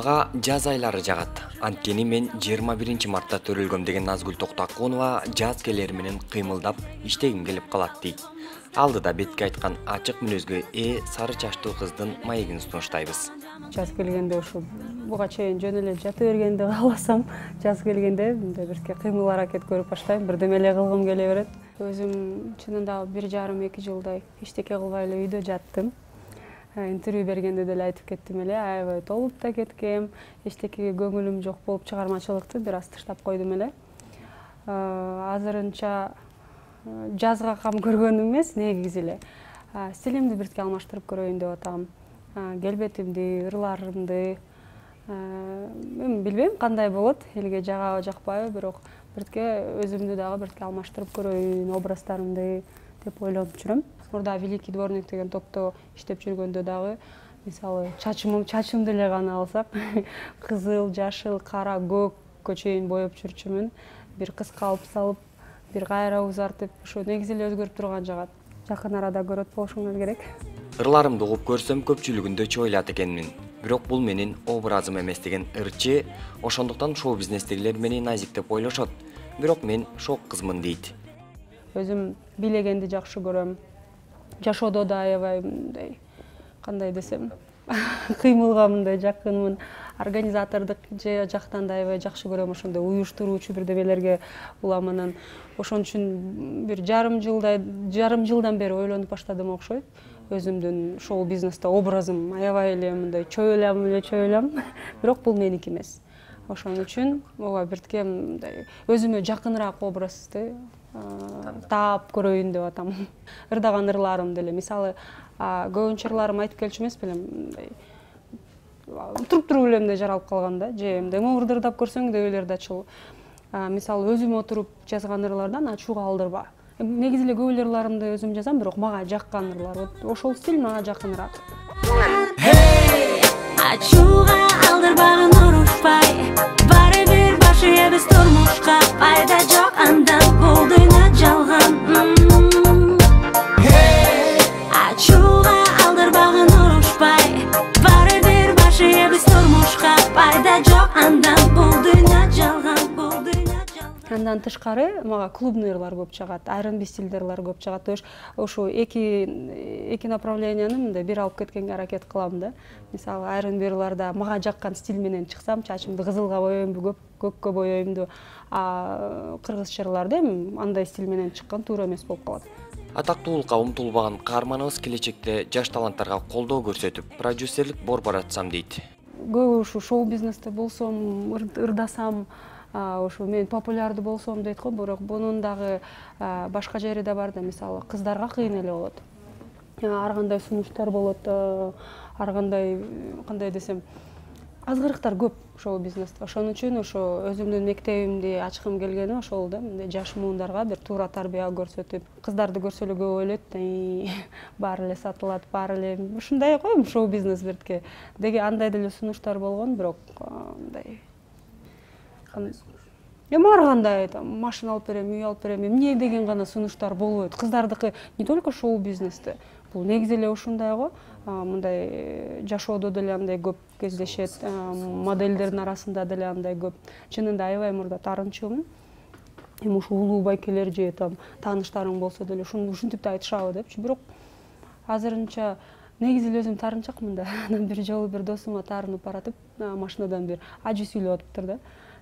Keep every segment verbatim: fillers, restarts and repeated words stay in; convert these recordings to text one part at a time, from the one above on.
Мага жаз айлары жагат. Анткени мен жыйырма биринчи мартта төрөлгөм деген Назгүл Токтакунова жаз келери менен кыймылдап иштегим келип калат дейт. Алдыда бетке айткан ачык мүнөзгө ээ сары чачтуу кыздын маегин сунуштайбыз. Жаз келгенде ушу буга чейин жөн эле жата бергенди кааласам, жаз келгенде мындай бирке кыймыл аракет көрүп баштайм, бирдеме эле кылгым келе берет. Өзүм чынында бир жарым эки жылдай эчтеке кылбай эле үйдө жаттым. Интервью бергенде деле айтып кеттим эле, аябай толуп да кеткем, эчтекеге көңүлүм жок болуп чыгармачылыкты бир аз таштап койдум эле. Азырынча жазга кам көргөнүм эмес, негизи эле стилимди биртке алмаштырып көрөйүн деп атам. Келбетимди, ырларымды, эми билбейм кандай болот, элге жагабы жакпайбы, бирок биртке өзүмдү дагы биртке алмаштырып көрөйүн, образдарымды деп ойлонуп жүрөм. Мурда Великий дворник деген топто иштеп жүргөндө дагы, мисалы, чачымым, чачымды эле гана алсак, кызыл, жашыл, кара, көккө чейин боеп жүрчүмүн. Бир кыска алып салып, бир кайра узартып, ошо негизи эле өзгөрүп турган жагат. Жакын арада көрөт болушуңар керек. Ырларымды угуп көрсөм көпчүлүгүндө чойлат экенмин. Бирок бул менин образым эмес деген ырчы, ошондуктан шоу бизнестегилер мени назик деп ойлошот. Бирок мен шок кызмын дейт. Өзүм бийлегенди жакшы көрөм. Жашоодо да аябай мындай, кандай десем, кыймылга мындай жакынмын. Организатордук жактан да аябай жакшы көрөм, ошондой уюштуруучу бирдемелерге улам. Анан ошон үчүн бир жарым жылдай, жарым жылдан бери ойлонуп баштадым окшойт. Өзүмдүн шоу бизнесте образым аябай эле мындай чойлам эле чойлам, бирок бул меники эмес. Ошон үчүн ооба биртке мындай өзүмө жакыныраак образды таап көрөйүн деп атам. Ырдаган ырларымды эле, мисалы, көбүнчө ырларым айтып келчү эмес белем, мындай туруп-туруп эле мындай жаралып калган да, же мындай ырдап көрсөң дебелер да чул. Мисалы, өзүм отуруп жазган ырлардан ачууга алдырба. Негизи эле көп ырларымды өзүм жазам, бирок мага жаккан ырлар. Ошол стиль мага жакыныраак. Ачууга алдырбагын урушпай, баары бир башы эбиз турмушка, пайда жок андан бул дүйнө жалган. Ачууга алдырбагын урушпай, баары бир башы эбиз турмушка, пайда жок андан бул дүйнө жалган, бул дүйнө жалган. Андан тышкары мага клубный ырлар көп жагат, айрым стилдер ырлар көп жагат. Ошо эки эки направленияны мындай бир алып кеткенге аракет кылам да. Мисалы, айрым ырларда мага жаккан стиль менен чыксам, чачымды кызылга боёймбу, көккө боёймбу, а кыргызча ырларда эми андай стиль менен чыккан туура эмес болуп калат. Атактуулукка умтулбаган каарманыбыз келечекте жаш таланттарга колдоо көрсөтүп, продюсерлик бор баратсам дейт. Көбү ушу шоу бизнесте болсом, ырдасам, ошо мен популярдуу болсом дейт го, бирок бунун дагы башка жери да бар да, мисалы, кыздарга кыйын эле болот. Ар кандай сунуштар болот, ар кандай, кандай десем, азгырыктар көп шоу бизнесте. Ошон үчүн ошо өзүмдүн мектебимди ачкым келгени ошол да, мындай жаш муундарга бир туура тарбия көрсөтүп, кыздарды көрсө эле көп ойлойт, баары эле сатылат, баары эле ушундай го шоу бизнес биртке. Деги андай деле сунуштар болгон, бирок мындай эми ар кандай машина алып берем, үй алып берем, эмне деген гана сунуштар болбойт. Кыздардыкы не только шоу бизнесте, бул негизи эле ушундай го, мындай жашоодо деле андай көп кездешет, модельдердин арасында деле андай көп. Чынында аябай мурда таарынчумун. Эми ушу улуу байкелер же там тааныштарың болсо деле ушинтип да айтышабы депчи, бирок азырынча негизи эле өзүм таарынчакмын да. Анан бир жолу бир досума таарынып баратып, машинадан бир ажы сүйлөп атыптыр да.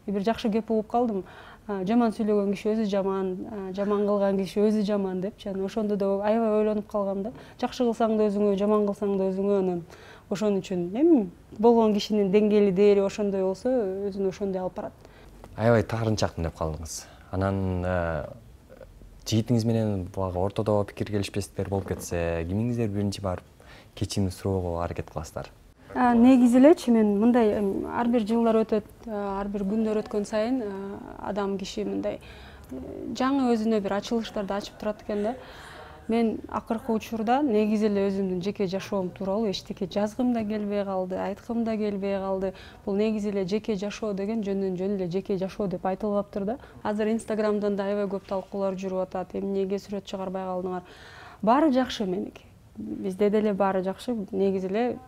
Бир жакшы кеп угуп калдым. Жаман сүйлөгөн киши өзү жаман, жаман кылган киши өзү жаман депчи. Анан ошондо да аябай ойлонуп калгам да. Жакшы кылсаң да өзүңө, жаман кылсаң да өзүңө. Анан ошон үчүн эми болгон кишинин деңгээли дээри ошондой болсо, өзүн ошондой алып барат. Аябай таарынчакмын деп калдыңыз. Анан жигитиңиз менен буга ортодо пикир келишпестиктер болуп кетсе, кимиңиздер биринчи барып кечирим суроого аракет кыласыздар? Негизи элечи мен мындай ар бир жылдар өтөт, ар бир күндөр өткөн сайын адам киши мындай жаңы өзүнө бир ачылыштарды ачып турат экен да. Мен акыркы учурда негизи эле өзүмдүн жеке жашоом тууралуу эчтеке жазгым да келбей калды, айткым да келбей калды. Бул негизи эле жеке жашоо деген жөндөн жөн эле жеке жашоо деп айтылгаптыр да. Азыр Инстаграмдан да аябай көп талкуулар жүрүп атат. Эмнеге сүрөт чыгарбай калдыңар? Баары жакшы меники. бизде деле баары жакшы, негизи эле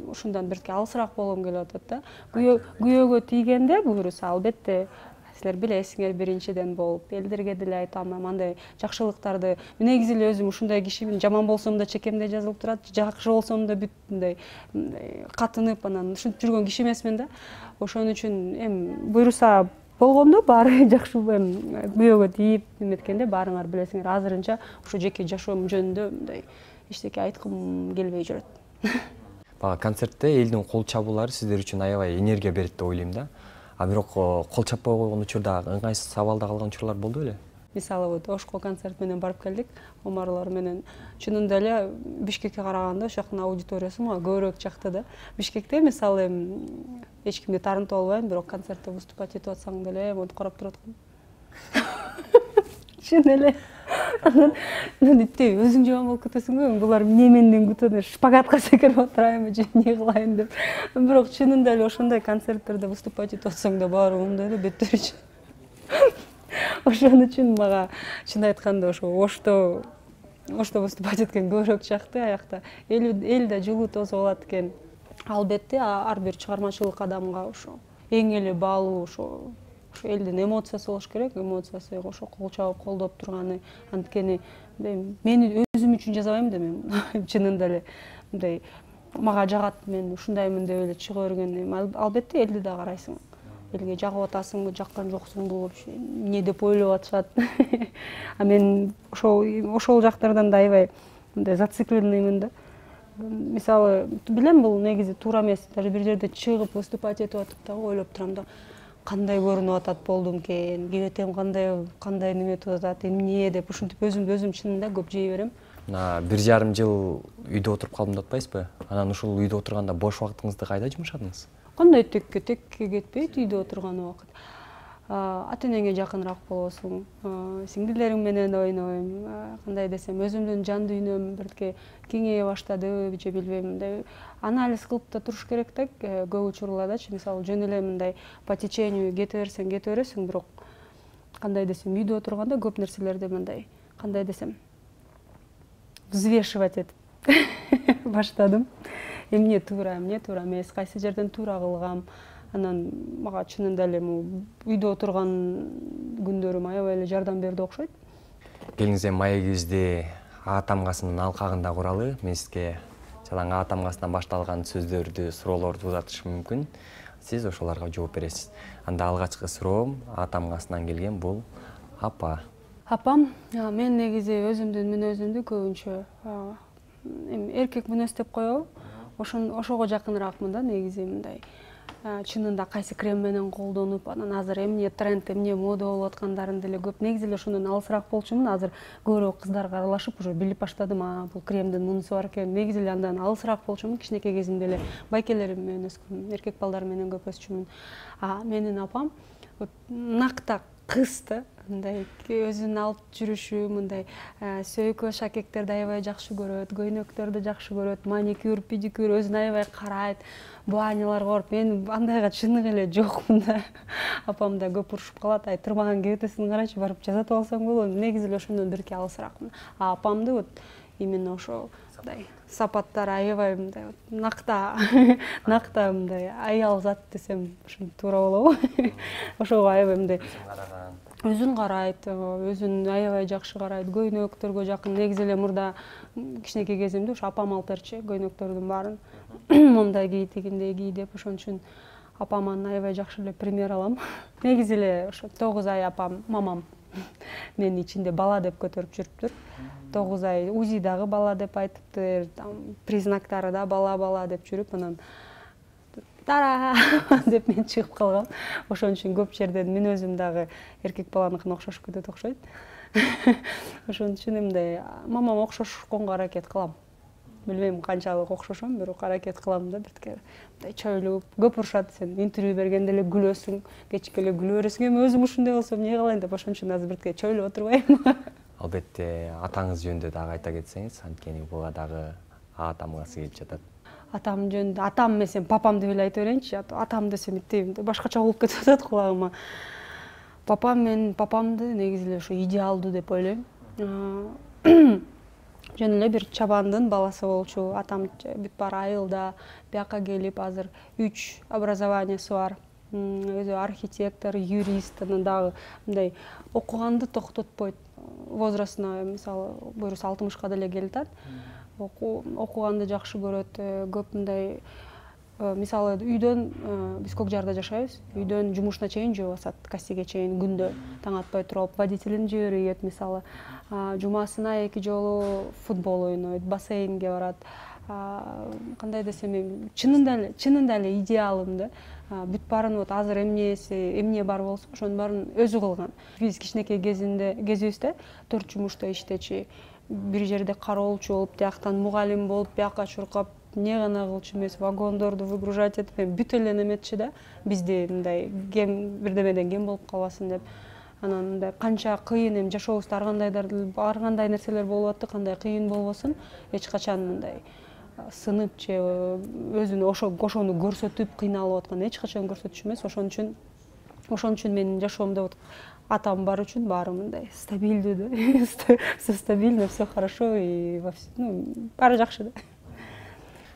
ушундан бирке алысыраак болгум келип атат да. Күйөөгө тийгенде буюрса албетте силер билесиңер, биринчиден болуп элдерге деле айтам, андай жакшылыктарды. Негизи эле өзүм ушундай кишимин, жаман болсом да чекемде жазылып турат, жакшы болсом да бүт мындай катынып анан ушинтип жүргөн киши эмесмин да. Ошон үчүн эми буюрса болгондо баары жакшы, эми күйөөгө тийип эметкенде баарыңар билесиңер, азырынча ушу жеке жашоом жөнүндө мындай эчтеке айткым келбей жүрөт. Бага концертте элдин кол чабуулары сиздер үчүн аябай энергия берет деп ойлойм да. А бирок кол чаппай койгон учурда ыңгайсыз абалда калган учурлар болду беле? Мисалы вот Ошко концерт менен барып келдик, Омарлар менен. Чынында эле Бишкекке караганда ошол жактын аудиториясы мага көбүрөөк жакты да. Бишкекте мисалы эч кимди таарынтып албайм, бирок концертте выступать этип атсаң деле монтип карап турат экен. Чын эле. Анан иттей өзүң жаман болуп кетесиңби? Булар эмне менден күтөт? Шпагатка секирип отурайынбы же эмне кылайын деп. Бирок чынында эле ошондой концерттерде выступать этип атсаң да баары мындай эле беттери. Ошон үчүн мага чын айтканда ошо Ошто Ошто выступать эткен көбүрөөк жакты. Аякта эл да жылуу тосуп алат экен. Албетте ар бир чыгармачылык адамга ошо эң эле баалуу ошо элдин эмоциясы болуш керек, эмоциясы ошо кол чабып колдоп турганы. Анткени мен өзүм үчүн жазабайм да, мен чынында эле мындай мага жагат, мен ушундаймын деп эле чыга берген. Албетте элди да карайсың. Элге жагып атасыңбы, жаккан жоксуңбу, вообще эмне деп ойлоп атышат. А мен ошол ошол жактардан да аябай мындай зацикленныймын да. Мисалы, билем бул негизи туура эмес. Даже бир жерде чыгып выступать этип атып да ойлоп турам да. Кандай көрүнүп атат болдум экен, кебетем кандай кандай неметип атат, эмне деп ушинтип өзүмдү өзүм чынында көп жей берем. Бир жарым жыл үйдө отуруп калдым деп атпайсызбы? Анан ушул үйдө отурганда бош убактыңызды кайда жумшадыңыз? Кандай текке текке кетпейт үйдө отурган убакыт. Ата-энеңе жакыныраак болосуң, сиңдилериң менен ойнойм, кандай десем, өзүмдүн жан дүйнөм бирке кеңейе баштады, же билбейм, мындай анализ кылып да туруш керек да, көп учурлардачы, мисалы жөн эле мындай по течению кете берсең, кете бересиң, бирок кандай десем, үйдө отурганда көп нерселерди мындай, кандай десем, взвешивать этип баштадым. Эмне туура, эмне туура эмес, кайсы жерден туура кылгам. Анан мага чынында эле үйдө отурган күндөрүм аябай эле жардам берди окшойт. Келиңиз эми маегибизди А тамгасынын алкагында куралы. Мен сизге жалаң А тамгасынан башталган сөздөрдү, суроолорду узатышым мүмкүн. Сиз ошолорго жооп бересиз. Анда алгачкы суроом А тамгасынан келген бул апа. Апам, мен негизи өзүмдүн мүнөзүмдү көбүнчө эми эркек мүнөз деп коебу? Ошон ошого жакыныраакмын да, негизи мындай. Чынында кайсы крем менен колдонуп, анан азыр эмне тренд, эмне мода болуп аткандарын деле көп. Негизи эле ошондон алысыраак болчумун. Азыр көбүрөөк кыздарга аралашып, уже билип баштадым, а бул кремдин мунусу бар экен. Негизи эле андан алысыраак болчумун. Кичинекей кезимде эле байкелерим менен өскөм, эркек балдар менен көп өсчүмүн. А менин апам накта кыз да, мындай өзүн алып жүрүшү, мындай сөйкө шакектерди аябай жакшы көрөт, көйнөктөрдү жакшы көрөт, маникюр, педикюр өзүн аябай карайт, баняларга барып, мен андайга чыныгы эле жокмун да. Апам да көп урушуп калат, ай турмаган кебетесин карачы, барып жасатып алсаң болот. Негизи эле ошондон бирке алысыраакмын. А апамды вот именно ошо мындай сапаттары аябай мындай накта, накта мындай аял зат десем ушул туура болобу? Ошого аябай мындай өзүн карайт, өзүн аябай жакшы карайт, көйнөктөргө жакын. Негизи эле мурда кичинекей кезимде ушу апам алып берчү көйнөктөрдүн баарын. Мондай кий, тигиндей кий деп, ошон үчүн апаман аябай жакшы эле пример алам. Негизи эле ошо тогуз ай апам, мамам мени ичинде бала деп көтөрүп жүрүптүр. тогуз ай УЗИ дагы бала деп айтыптыр, признактары да бала-бала деп жүрүп, анан тара деп мен чыгып калгам. Ошон үчүн көп жерден мүнөзүм дагы эркек баланыкына окшошуп кетет окшойт. Ошон үчүн мындай мамама окшошконго аракет кылам. Билбейм канчалык окшошом, бирок аракет кылам да, бирке мындай чойлуп. Көп урушат, сен интервью бергенде эле күлөсүң, кечке эле күлө бересиң, эми өзүм ушундай болсом эмне кылайын деп, ошон үчүн азыр бирке чойлоп отурбайм. Албетте атаңыз жөнүндө дагы айта кетсеңиз, анткени буга дагы А тамгасы келип жатат. Атам жөнүндө, атам эмес, папам деп эле айта берейинчи. Атам десем иттейм, башкача болуп кетип атат кулагыма. Папам, мен папамды негизи эле ошо идеалдуу деп ойлойм. жөн эле бир чабандын баласы болчу. Атам бүт баары айылда, бияка келип азыр үч образованиясы бар. Өзү архитектор, юрист, анан дагы мындай окуганды токтотпойт. Возрастына мисалы буюрса алтымышка деле келатат. Окуганды жакшы көрөт. Көп мындай мисалы үйдөн биз Көк Жарда жашайбыз. Үйдөн жумушуна чейин жөө басат, кассиге чейин күндө таң атпай туруп водителин жиберет мисалы. Жумасына эки жолу футбол ойнойт, бассейнге барат. Кандай десем эми чынында эле, чынында эле идеалым да. Бүт баарын вот азыр эмнеси, эмне бар болсо, ошонун баарын өзү кылган. Биз кичинекей кезинде, кезибизде төрт жумушта иштечи, бир жерде кароолчу болуп, тияктан мугалим болуп, бияка чуркап, эмне гана кылчу эмес, вагондорду выгружать этип, бүт эле неметчи да. Бизде мындай кем бирдемеден кем болуп калбасын деп. Анан мындай канча кыйын эми жашообузда ар кандайдар ар кандай нерселер болуп атты, кандай кыйын болбосун, эч качан мындай сынып же өзүнү ошо ошону көрсөтүп кыйналып аткан эч качан көрсөтүш эмес. Ошон үчүн ошон үчүн менин жашоомдо вот атам бар үчүн баары мындай стабилдүү да. Все стабильно, все хорошо и ну баары жакшы да.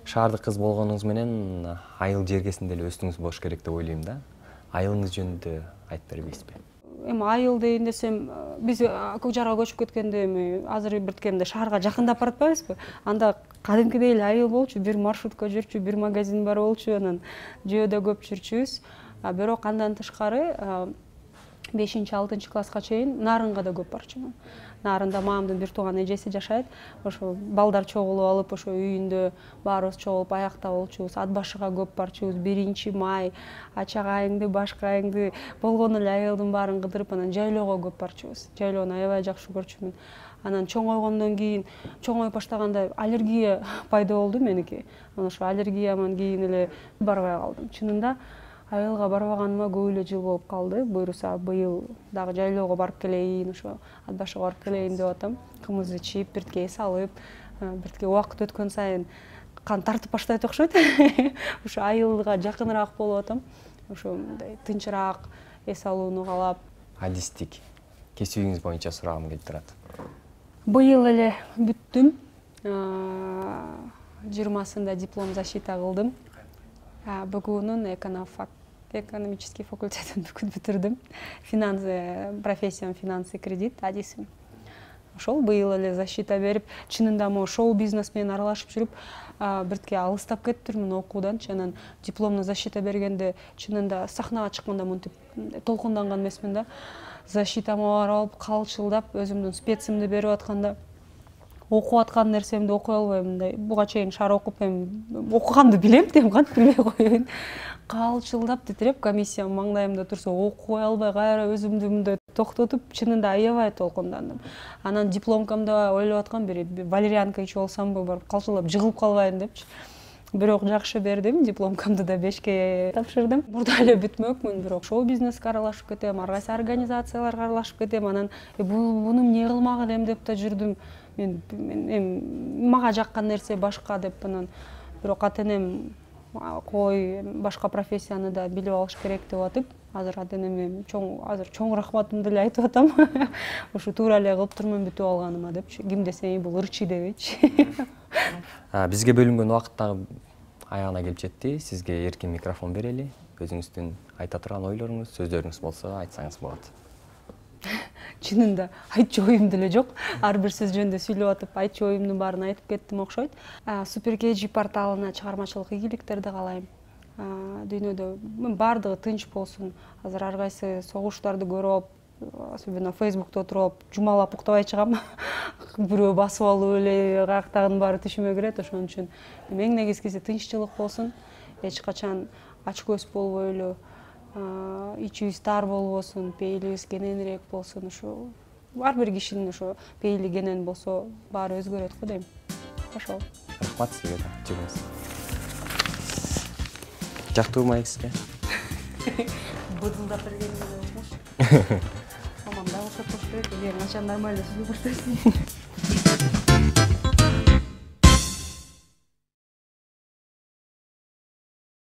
Шаардык кыз болгонуңуз менен айыл жергесинде эле өстүңүз болуш керек деп ойлойм да. Айылыңыз жөнүндө айтып бербейсизби? Эми айыл дейин десем, биз Көк Жарга көчүп кеткенде эми азыр бирткенде шаарга жакындап баратпайбызбы? Анда кадимкидей эле айыл болчу, бир маршрутка жүрчү, бир магазин бар болчу, анан жөөдө көп жүрчүбүз. Бирок андан тышкары бешинчи алтынчы класска чейин Нарынга да көп барчумун. Нарында мамамдын бир тууган эжеси жашайт. Ошо балдар чогулуп алып, ошо үйүндө баарыбыз чогулуп аякта болчубуз. Ат башыга көп барчубуз. биринчи май, ачагайыңды, башкайыңды болгон эле айылдын баарын кыдырып, анан жайлоого көп барчубуз. Жайлоону аябай жакшы көрчүмүн. Анан чоңойгондон кийин, чоңоюп баштаганда аллергия пайда болду меники. Анан ошо аллергияман кийин эле барбай калдым. Чынында айылга барбаганыма көп эле жыл болуп калды. Буюрса быйыл дагы жайлоого барып келейин, ошо ат башыга барып келейин деп атам. Кымыз ичип, биртке эс алып, биртке убакыт өткөн сайын кан тартып баштайт окшойт. Ошо айылга жакыныраак болуп атам. Ошо мындай тынчыраак эс алууну каалап. Адистик кесибиңиз боюнча сурагым келип турат. Быйыл эле бүттүм. жыйырмасында диплом защита кылдым. БГУнун экономфак экономический факультетин бүтүрдүм. Финансы, профессиям финансы кредит, адисим. Ошол быйыл эле защита берип, чынында мо шоу бизнес менен аралашып жүрүп, биртке алыстап кеттирмин окууданчы. Анан дипломну защита бергенде чынында сахнага чыкканда мынтип толкунданган эмесмин да. Защитама барып алып, калчылдап, өзүмдүн специмди берип атканда окуп аткан нерсемди окуй албайм. Мындай буга чейин шаар окуп эми окуганды билем, дем кантип билбей коеюн. Калчылдап титиреп, комиссия маңдайымда турса окуй албай, кайра өзүмдү мындай токтотуп, чынында аябай толкундандым. Анан дипломкамда ойлоп аткам бири валерьянка ичип алсамбы, барып калчылап жыгылып калбайын депчи. Бирок жакшы бердим, дипломкамды да бешке тапшырдым. Мурда эле бүтмөкмүн, бирок шоу бизнеске аралашып кетем, ар кайсы организацияларга аралашып кетем. Анан буну эмне кылмак элем деп да жүрдүм. Мен эми мага жаккан нерсе башка деп анан бирок ата-энем кой башка профессияны да билип алыш керек деп атып, азыр ата-энеме чоң азыр чоң рахматымды эле айтып атам. Ушу туура эле кылып турмун бүтүп алганыма депчи. Ким десе бул ырчы дебейчи. Бизге бөлүнгөн убакыт дагы аягына келип жетти. Сизге эркин микрофон берели. Өзүңүздүн айта турган ойлоруңуз, сөздөрүңүз болсо айтсаңыз болот. Чынында айтчу оюм деле жок. Ар бир сөз жөнүндө сүйлөп атып, айтчу оюмдун баарын айтып кеттим окшойт. Супер кей джи порталына чыгармачылык ийгиликтерди каалайм. Дүйнөдө баардыгы тынч болсун. Азыр ар кайсы согуштарды көрүп, особенно Facebook'та отуруп, жумалап уктабай чыгам. Бирөө басып алып эле каяктагынын баары түшүмө кирет. Ошон үчүн эң негизгиси тынччылык болсун. Эч качан ач көз болбой эле, ичибиз тар болбосун, пейилибиз кененирээк болсун. Ошо ар бир кишинин ошо пейили кенен болсо баары өзгөрөт го дейм. Ошол. Рахмат сизге да, жүрүңүз. Жактуу майк сизге. Быдылдап бергениңе болмош. Мамам да ошо кош берет, эми качан нормально сүйлөп баштайсың.